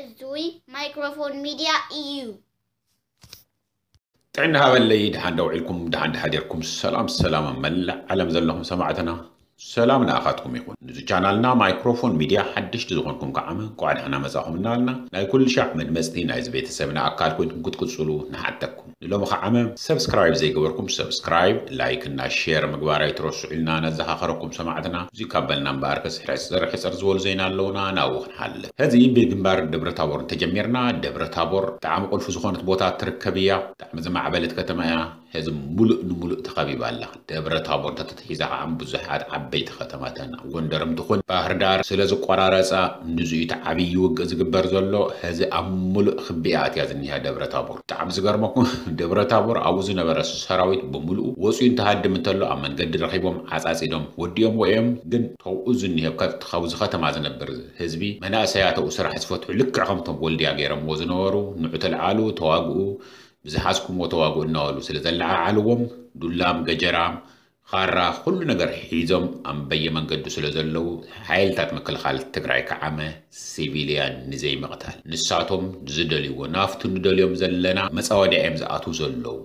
እዙይ ማይክሮፎን ሚድያ እዩ። ጥዕና ሃበለይ፣ ደሓን ደውዒልኩም፣ ደሓን ደሓዲርኩም፣ ሰላም ሰላም ኣብ መላእ ዓለም ዘለኹም ሰማዕትና፣ ሰላም ንኣኻትኩም ይኹን። ንዚ ቻናልና ማይክሮፎን ሚድያ ሓደሽቲ ዝኾንኩም ከዓመ እንቋዕ ደሓና መጻኹም እናበልና፣ ናይ ኩሉ ሻዕ መድመጽቲ ናይዚ ቤተሰብና ኣካል ኮይንኩም ክትቅጽሉ ንሓተኩም። ንሎሚ ከዓመ ሰብስክራይብ ዘይገበርኩም ሰብስክራይብ፣ ላይክ እና ሼር ምግባር ኣይትረስዑ ኢልና ነዘኻኸረኩም ሰማዕትና። እዚ ካብ በልና እምበኣርከስ ሕጽር ሕጽር ዝበሉ ዜና ኣለውና፣ ናብኡ ክንሓልፍ። ሕዚ ብግንባር ደብረ ታቦር እንተጀሚርና፣ ደብረ ታቦር ብጣዕሚ ቁልፊ ዝኾነት ቦታ ትርከብ እያ። ብጣዕሚ ዝማዕበለት ከተማ እያ። ሕዚ ሙሉእ ንሙሉእ ተኸቢባ ኣላ። ደብረ ታቦር እንተተትሒዛ ከዓ ብዙሓት ዓበይቲ ከተማታት ጎንደርም ትኹን ባህር ዳር ስለ ዝቆራረፃ ንዙ እዩ እቲ ዓብዪ ውግእ ዝግበር ዘሎ። ሕዚ ኣብ ሙሉእ ክቢኣ ኣትያ ዝኒሃ ደብረ ታቦር። ብጣዕሚ ዝገርመኩም ደብረ ታቦር ኣብኡ ዝነበረ ሰራዊት ብምሉኡ ወፂኡ እንትሃድም እንተሎ ኣብ መንገዲ ረኺቦም ዓፃፂዶም ወዲኦምዎ እዮም። ግን ተብኡ ዝኒሀ ካብዚ ከተማ ዝነብር ህዝቢ መናእሰያት ኣብኡ ስራሕ ዝፈትሑ ልክዕ ከምቶም ወልድያ ገይሮምዎ ዝነበሩ ንዑ ተልዓሉ ተዋግኡ ብዝሓዝኩምዎ ተዋግኡ እናበሉ ስለ ዘለዓዓልዎም ዱላም ገጀራም ኻራ ኩሉ ነገር ሒዞም ኣብ በየመንገዱ ስለ ዘለዉ ሓይልታት ምክልኻል ትግራይ ከዓመ ሲቪልያን ንዘይምቕታል ንሳቶም ዝደልይዎ ናፍቱ ንደልዮም ዘለና መፃወድያ እዮም ዝኣትዉ ዘለዉ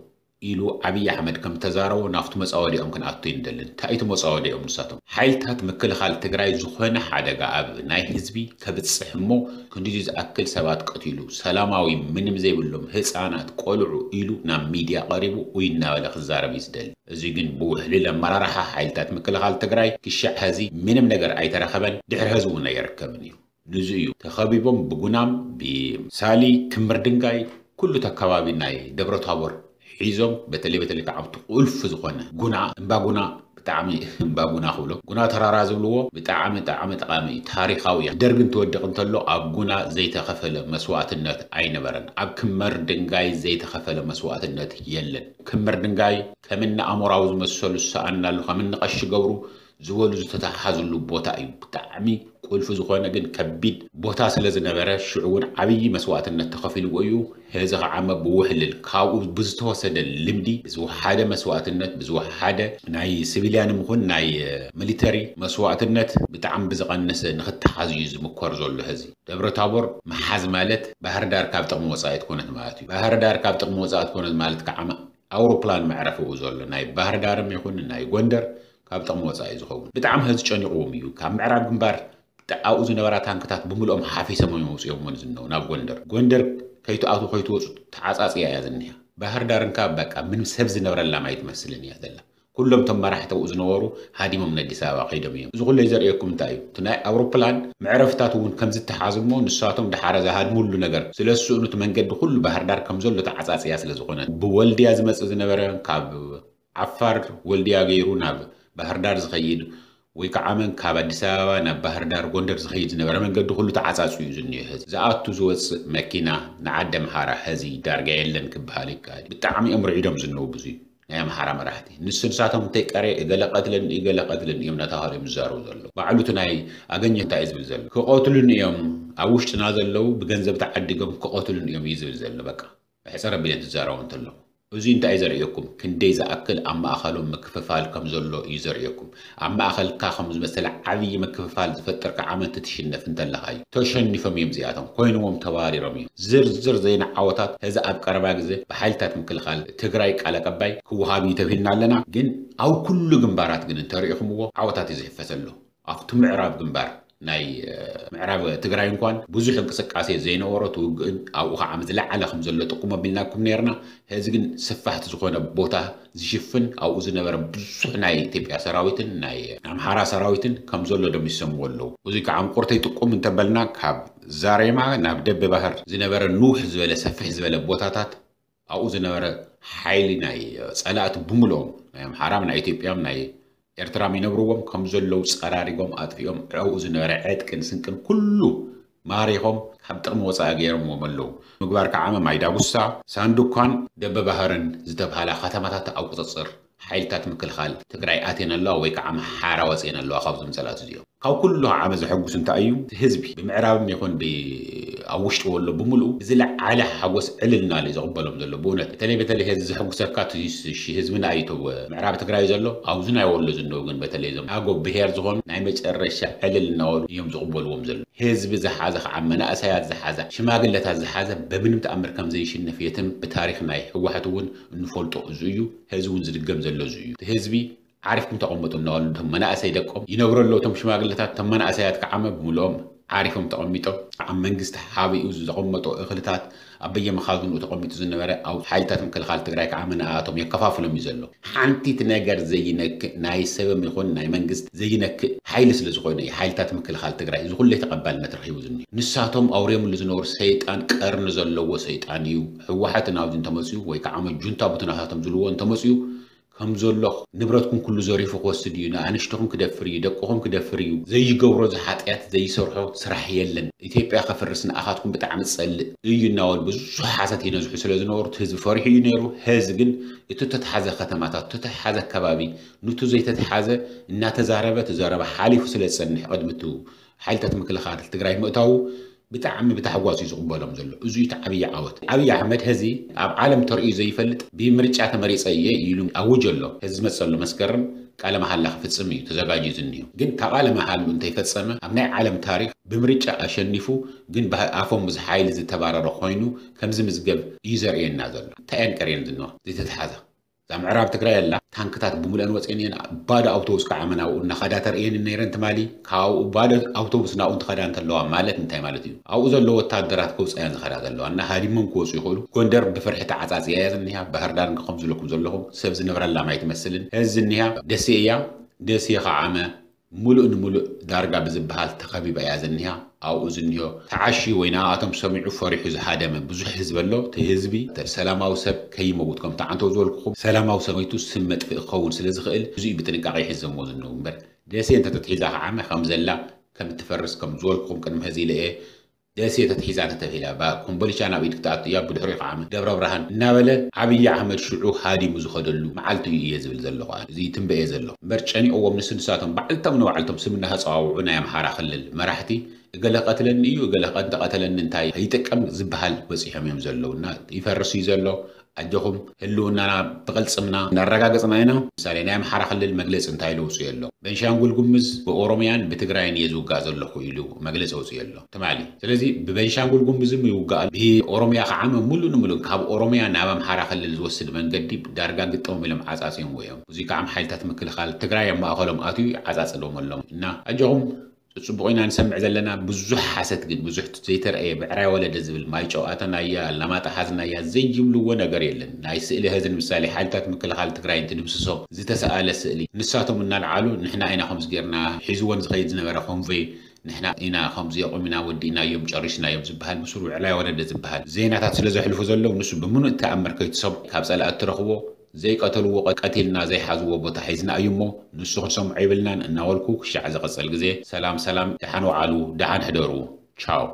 ኢሉ ኣብይ ኣሕመድ ከም ተዛረቦ ናፍቱ መፃወድኦም ክንኣቱ ይንደልን እንታይ እቲ መፃወድኦም ንሳቶም ሓይልታት ምክልኻል ትግራይ ዝኾነ ሓደጋ ኣብ ናይ ህዝቢ ከብፅሕ እሞ ክንዲዚ ዝኣክል ሰባት ቀቲሉ ሰላማዊ ምንም ዘይብሎም ህፃናት ቆልዑ ኢሉ ናብ ሚድያ ቀሪቡ ኡይ እናበለ ክዛረብ እዩ ዝደሊ። እዚ ግን ብውሕልል ኣመራርሓ ሓይልታት ምክልኻል ትግራይ ክሻዕ ሐዚ ምንም ነገር ኣይተረኸበን፣ ድሕሪ ሐዚ እውን ኣይረከብን እዩ። ንዚ እዩ ተኸቢቦም ብጉናም ብሳሊ ክምር ድንጋይ ኩሉ ተከባቢ ናይ ደብረ ታቦር ሒዞም በተለይ በተለይ ከዓ ኣብቲ ቁልፊ ዝኾነ ጉና እምባ ጉና ብጣዕሚ እምባ ጉና ክብሎ ጉና ተራራ ዝብልዎ ብጣዕሚ ጣዕሚ ጠቃሚ እዩ ታሪካዊ እዩ ደርግ እንትወድቅ እንተሎ ኣብ ጉና ዘይተኸፈለ መስዋእትነት ኣይነበረን ኣብ ክመር ድንጋይ ዘይተኸፈለ መስዋእትነት የለን ክመር ድንጋይ ከምኒ ኣሞራዊ ዝመሰሉ ዝሰኣናሉ ከምኒ ቀሺ ገብሩ ዝበሉ ዝተተሓሓዝሉ ቦታ እዩ ብጣዕሚ ቁልፊ ዝኾነ ግን ከቢድ ቦታ ስለ ዝነበረ ሽዑ እውን ዓብዪ መስዋእትነት ተኸፊልዎ እዩ። ሕዚ ኸዓ እሞ ብውሕልል ካብኡ ብዝተወሰደ ልምዲ ብዝወሓደ መስዋእትነት ብዝወሓደ ናይ ስቪልያንም ይኹን ናይ ሚሊተሪ መስዋእትነት ብጣዕሚ ብዝቐነሰ ንኽተሓዝ እዩ ዝምኮር ዘሎ። ሕዚ ደብረ ታቦር ምሓዝ ማለት ባህር ዳር ካብ ጥቕሚ ወፃኢ ትኮነት ማለት እዩ። ባህር ዳር ካብ ጥቕሚ ወፃኢ ትኮነት ማለት ከዓ ኣውሮፕላን መዕረፊ እዩ ዘሎ ናይ ባህር ዳርም ይኹን ናይ ጎንደር ካብ ጥቕሚ ወፃኢ ዝኸውን ብጣዕሚ ሕዚ ጨኒቕዎም እዩ። ካብ ምዕራብ ግንባር ኣብኡ ዝነበራ ታንክታት ብምልኦም ሓፊሶም እዮም ኣውፅኦምወን ዝነው ናብ ጎንደር ጎንደር ከይትኣትዉ ከይትወፁ ተዓፃፅያ እያ ዝኒሃ። ባህር ዳር እንካ በቃ ምንም ሰብ ዝነብረላም ኣይትመስልን እያ ዘላ። ኩሎም እቶም መራሕቲ ኣብኡ ዝነበሩ ሃዲሞም ንኣዲስ ኣበባ ከይዶም እዮም። እዚ ኩለይ ዘርእየኩም እንታይ እዩ? እቲ ናይ ኣውሮፕላን መዕረፍታት እውን ከም ዝተሓዝ እሞ ንሳቶም ድሓረ ዝሃድምሉ ነገር ስለ ዝስእኑ እቲ መንገዲ ኩሉ ባህር ዳር ከም ዘሎ ተዓፃፅያ ስለ ዝኾነ ብወልድያ ዝመፅእ ዝነበረ ካብ ዓፋር ወልድያ ገይሩ ናብ ባህር ዳር ዝኸይድ ወይ ከዓ መን ካብ ኣዲስ ኣበባ ናብ ባህር ዳር ጎንደር ዝኸይድ ዝነበረ መንገዲ ኩሉ ተዓፃፅዩ እዩ ዝኒኦ። ሕዚ ዝኣቱ ዝወፅእ መኪና ንዓዲ ኣምሓራ ሕዚ ዳርጋ የለን ክበሃል ይከኣል። ብጣዕሚ እዮም ርዒዶም ዝነው ብዙ ናይ ኣምሓራ መራሕቲ ንሱ ንሳቶም እንተይቀረ እገለ ቀትልን እገለ ቀትልን እዮም እናተባሃሉ እዮም ዝዛረቡ ዘለዉ። ባዕሉ እቲ ናይ ኣገኘ እንታይ እዩ ዝብል ዘሎ? ክቐትሉን እዮም ኣብ ውሽጥና ዘለዉ ብገንዘብ ተዓዲጎም ክቐትሉን እዮም እዩ ዝብል ዘሎ። በቃ ሕፅር ኣቢለ እንትዛረቡ እንተለኹ እዚ እንታይ እዩ ዘርእየኩም? ክንደይ ዝኣክል ኣብ ማእኸሎም ምክፍፋል ከም ዘሎ እዩ ዘርእየኩም። ኣብ ማእኸልካ ከም ዝመሰለ ዓብዪ ምክፍፋል ዝፈጥር ከዓ መን ትትሽነፍ እንተለኻ እዩ። ተሸኒፎም እዮም እዚኣቶም። ኮይንዎም ተባሪሮም እዮም። ዝርዝር ዜና ዓወታት ሕዚ ኣብ ቀረባ ግዜ ብሓይልታት ምክልኻል ትግራይ ቃል ኣቀባይ ክወሃብ እዩ ተብሂልና ኣለና። ግን ኣብ ኩሉ ግንባራት ግን እንተሪኢኹምዎ ዓወታት እዩ ዝሕፈስ ኣሎ። ኣብቲ ምዕራብ ግንባር ናይ ምዕራብ ትግራይ እንኳን ብዙሕ እንቅስቃሴ ዘይነበሮ ትውግእን ኣብኡ ከዓ ዝለዓለ ከም ዘሎ ጥቁም ኣቢልናኩም ነርና። ሕዚ ግን ስፋሕቲ ዝኾነ ቦታ ዝሽፍን ኣብኡ ዝነበረ ብዙሕ ናይ ኢትዮጵያ ሰራዊትን ናይ ኣምሓራ ሰራዊትን ከም ዘሎ ደሚሶምዎ ኣለዉ። እዚ ከዓ ምቁርተይ ጥቁም እንተበልና ካብ ዛሬማ ናብ ደበ ባህር ዝነበረ ንውሕ ዝበለ ሰፍሕ ዝበለ ቦታታት ኣብኡ ዝነበረ ሓይሊ ናይ ፀላእቲ ብምልኦም ናይ ኣምሓራም ናይ ኢትዮጵያም ናይ ኤርትራም ይነብርዎም ከም ዘለዉ ፀራሪጎም ኣጥፊኦም ዕኡ ዝነበረ ዕጥቅን ስንቅን ኩሉ ማሪኾም ካብ ጥቕሚ ወፃኢ ገይሮምዎም ኣለዉ። ምግባር ከዓ ማይ ዳጉሳ፣ ሳንዱኳን ደበባህርን ዝተብሃላ ከተማታት ኣብ ቁፅፅር ሓይልታት ምክልኻል ትግራይ ኣትየን ኣለዋ ወይ ከዓ ኣምሓራ ወፅየን ኣለዋ ካብዞም ፀላእቲ እዚኦም። ካብ ኩሉ ዓመት ዘሐጉስ እንታይ እዩ? ህዝቢ ብምዕራብም ይኹን ኣብ ውሽጢ ወሎ ብምልኡ ብዝለዓለ ሓጎስ ዕልልና እዩ ዘቕበሎም ዘሎ። ብእውነት በተለይ በተለይ ህዝቢ ዘሐጉሰካ ህዝብና እዩ። ምዕራብ ትግራይ ዘሎ ኣብዚ ናይ ወሎ ዝነው ግን በተለይ ዞም ኣጎ ብሄር ዝኾኑ ናይ መጨረሻ ዕልል እናበሉ እዮም ዝቕበልዎም ዘሎ። ህዝቢ ዝሓዘ ከዓ መናእሰያት ዝሓዘ ሽማግለታት ዝሓዘ በምንም ተኣምር ከም ዘይሽነፍ የትም ብታሪክ ናይ ህወሓት እውን እንፈልጦ እዚ እዩ። ህዝቢ እውን ዝድገም ዘሎ እዚ እዩ። ህዝቢ ዓሪፍኩም ተቐመጡ እናበሉ እቶም መናእሰይ ደቆም ይነግሩ ኣለዉ። እቶም ሽማግለታት እቶም መናእሰያት ከዓመ ብምልኦም ዓሪፎም ተቐሚጦም ኣብ መንግስቲ ሓቢኡ ዘቐመጦ እኽልታት ኣብ በየመኻዝንኡ ተቐሚጡ ዝነበረ ኣብ ሓይልታት ምክልኻል ትግራይ ከዓመ ንኣቶም የከፋፍሎም እዩ ዘሎ። ሓንቲት ነገር ዘይነክእ ናይ ሰብም ይኹን ናይ መንግስት ዘይነክእ ሓይሊ ስለ ዝኾነ እዩ ሓይልታት ምክልኻል ትግራይ እዚ ኩለይ ተቐባልነት ረኺቡ ዝኒ። ንሳቶም ኣውርዮምሉ ዝነበሩ ሰይጣን ቀርኒ ዘለዎ ሰይጣን እዩ። ህወሓትን ኣብዚ እንተመፅኡ ወይ ከዓ ጁንታ ቡትናታቶም ዝልዎ እንተመፅኡ ከም ዘሎ ንብረትኩም ኩሉ ዘሪፉ ክወስድ እዩ፣ ንኣንሽትኹም ክደፍር እዩ፣ ደቅኹም ክደፍር እዩ። ዘይገብሮ ዝሓጢኣት ዘይሰርሖ ስራሕ የለን። ኢትዮጵያ ከፍርስ ንኣኻትኩም ብጣዕሚ ዝጸልእ እዩ እናበሉ ብዙሕ ሓሰት ይነዝሑ ስለ ዝነበሩ እቲ ህዝቢ ፈሪሑ እዩ ነይሩ። ህዝቢ ግን እቲ ተተሓዘ ከተማታት፣ ተተሓዘ ከባቢ፣ ንቱ ዘይተተሓዘ እናተዛረበ እቲ ዘረባ ሓሊፉ ስለ ዝጸንሕ ቅድሚ እቲ ሓይልታት ምክልኻል ትግራይ ምእታዉ ብጣዕሚ ብታሕጓስ እዩ ዝቕበሎም ዘሎ። እዚ እዩ እቲ ዓብዪ ዓወት። ዓብዪ ኣሕመድ ሕዚ ኣብ ዓለም ተርእዩ ዘይፈልጥ ብምርጫ ተመሪጸ እየ ኢሉ ኣውጅ ኣሎ። ሕዚ ዝመጸሉ መስከረም ቃለ መሓላ ክፍጽም እዩ ተዘጋጅዩ ዝኒሁ። ግን ካብ ቃለ መሓሉ እንተይፈጸመ ኣብ ናይ ዓለም ታሪኽ ብምርጫ ኣሸኒፉ ግን ብኣፎም ምስ ሓይሊ ዝተባረረ ኮይኑ ከም ዝምዝገብ እዩ ዘርእየና ዘሎ። እንታይ እየን ቀርየን ዝንዋ ዘይተተሓዛ? እዛ ምዕራብ ትግራይ ኣላ ታንክታት ብምልአን ወፅኤን እየን። ባዶ ኣውቶቡስ ከዓ መናብኡ እናኸዳ ተርእየን ነይረን ትማሊ። ካብኡ ባዶ ኣውቶቡስ ናብኡ እንትኸዳ እንተለዋ ማለት እንታይ ማለት እዩ? ኣብኡ ዘሎ ወታደራት ከውፅኣያን ዝኸዳ ዘለዋ እና ሃዲሞም ክወፁ ይኽእሉ። ጎንደር ብፍርሒ ተዓፃፂያ እያ ዝኒሃ። ባህር ዳር እንከ ከም ዝብለኩም ዘለኹም ሰብ ዝነብረላ ማይ ትመስልን ህዚ ዝኒሃ ደሴ እያ። ደሴ ከዓመ ሙሉእ ንሙሉእ ዳርጋ ብዝበሃል ተኸቢባ እያ ዝኒሃ። ኣብኡ ዝኒሆ ተዓሽዩ ወይ ንኣቶም ሰሚዑ ፈሪሑ ዝሃደመ ብዙሕ ህዝቢ ኣሎ። እቲ ህዝቢ ሰላማዊ ሰብ ከይመውት ከምቲ ዓንተው ዝበልኩኹም ሰላማዊ ሰብ ሞይቱ ስም መጥፍኢ ክኸውን ስለ ዝኽእል እዚኡ ብጥንቃቄ ይሕዘሞ ዝነው እምበር ደሴ እንተተትሒዛ ከዓመ ከም ዘላ ከም እትፈርስ ከም ዝበልኩኹም ቅድሚ ሕዚ ኢለ እየ። ደሴ ተትሒዛ እንተተብሂላ ኮምቦልቻ ናብ ኢድ ክትኣቱ እያ። ብድሕሪኡ ከዓ ደብረ ብርሃን እናበለ ዓብዪ ኣሕመድ ሽዑ ሃዲሙ ዝኸደሉ መዓልቲ እዩ እየ ዝብል ዘለኹ። እዚ ትንበኤ ዘሎ እምበር ጨኒቕዎም ንስ ንሳቶም ባዕልቶም ንባዕልቶም ስም እናተፀዋውዑ ናይ ኣምሓራ ክልል መራሕቲ እገለ ቀትለኒ እዩ እገለ እንተቐተለኒ እንታይ ይጥቀም ዝበሃል በፂሖም እዮም ዘለዉ እና ይፈርስ እዩ ዘሎ። ኣጆኹም ህልውናና ብቕልፅምና እናረጋገፅና ኢና። ምሳሌ ናይ ኣምሓራ ክልል መግለፂ እንታይ ኢሉ ኣውፅኡ ኣሎ? ቤንሻንጉል ጉምዝ ብኦሮሚያን ብትግራይን እየ ዝውጋእ ዘለኹ ኢሉ መግለፂ ኣውፅኡ ኣሎ ትማሊ። ስለዚ ብቤንሻንጉል ጉምዝም ይውጋእ ብኦሮሚያ ከዓ ሙሉእ ንሙሉእ ካብ ኦሮሚያ ናብ ኣምሓራ ክልል ዝወስድ መንገዲ ዳርጋ ግጠም ኢሎም ዓፃፂዮምዎ እዮም። እዚ ከዓ ሓይልታት ምክልኻል ትግራይ ኣብ ማእኸሎም ኣትዩ ዓፃፅሎም ኣሎም እና ኣጆኹም ፅቡቕ ኢና ንሰምዕ ዘለና። ብዙሕ ሓሰት ግን ብዙሕ ዘይተረኣየ ብዕራይ ወለደ ዝብል ማይጨው ኣተናያ ኣላማጣ ሓዝናያ ዘይብልዎ ነገር የለን። ናይ ስእሊ ህዝን ምሳሌ ሓይልታት ምክልኻል ትግራይ እንትድምስሶ ዝተሰኣለ ስእሊ ንሳቶም እናልዓሉ ንሕና ኢና ከምዚ ጌርና ሒዝወን ዝኸይድ ዝነበረ ኮንቮይ ንሕና ኢና ከምዚ ኣቑሚና ወዲእናዮም ጨሪስናዮም ዝበሃል ብስሩ ብዕራይ ወለደ ዝበሃል ዜናታት ስለ ዘሕልፉ ዘለዉ ንሱ ብምኑእ ተኣምር ከይትሰምዖ ካብ ፀላእቲ ትረኽቦ ዘይቀተልዎ ቀ- ቀቲልና ዘይሓዝዎ ቦታ ሒዝና እዩ እሞ ንሱ ክንሰምዖ ይብልናን እናበልኩ ክሻዕ ዝቐፀል ግዜ ሰላም ሰላም ደሓን ወዓሉ ደሓን ሕደሩ ቻው።